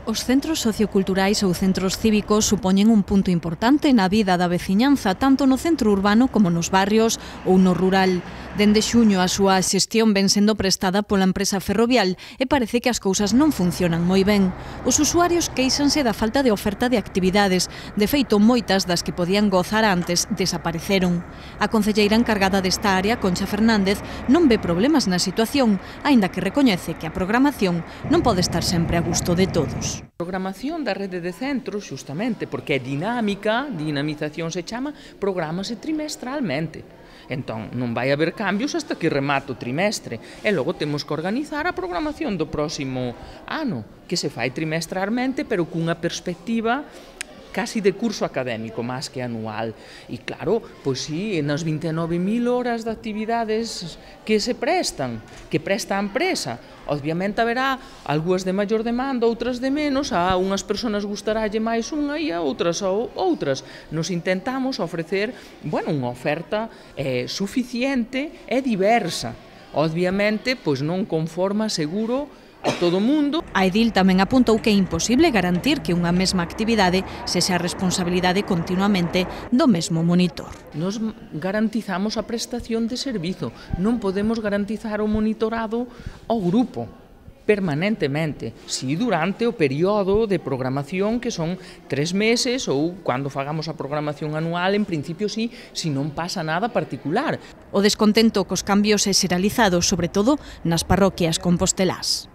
Os centros socioculturais ou centros cívicos supoñen un punto importante na vida da veciñanza, tanto no centro urbano como nos barrios ou no rural. Dende xuño a súa xestión ven sendo prestada pola empresa ferrovial e parece que as cousas non funcionan moi ben. Os usuarios queixanse da falta de oferta de actividades. De feito, moitas das que podían gozar antes desapareceron. A concelleira encargada desta área, Concha Fernández, non ve problemas na situación, aínda que recoñece que a programación non pode estar sempre a gusto de todos. A programación da rede de centros, xustamente, porque é dinámica, dinamización se chama, prográmase trimestralmente. Entón, non vai haber cambios hasta que remate o trimestre. E logo temos que organizar a programación do próximo ano, que se fai trimestralmente, pero cunha perspectiva casi de curso académico, máis que anual. E claro, pois sí, nas 29.000 horas de actividades que se prestan, que presta a empresa, obviamente haberá algunhas de maior demanda, outras de menos, a unhas persoas gustaralle máis unha e a outras outras. Nos intentamos ofrecer, unha oferta suficiente e diversa. Obviamente, pois non conforma, seguro, a todo o mundo. A edil tamén apuntou que é imposible garantir que unha mesma actividade sexa a responsabilidade continuamente do mesmo monitor. Nos garantizamos a prestación de servizo, non podemos garantizar o monitorado ao grupo permanentemente, si durante o período de programación que son 3 meses ou cando fagamos a programación anual, en principio si non pasa nada particular. O descontento cos cambios é xeralizado, sobre todo nas parroquias compostelás.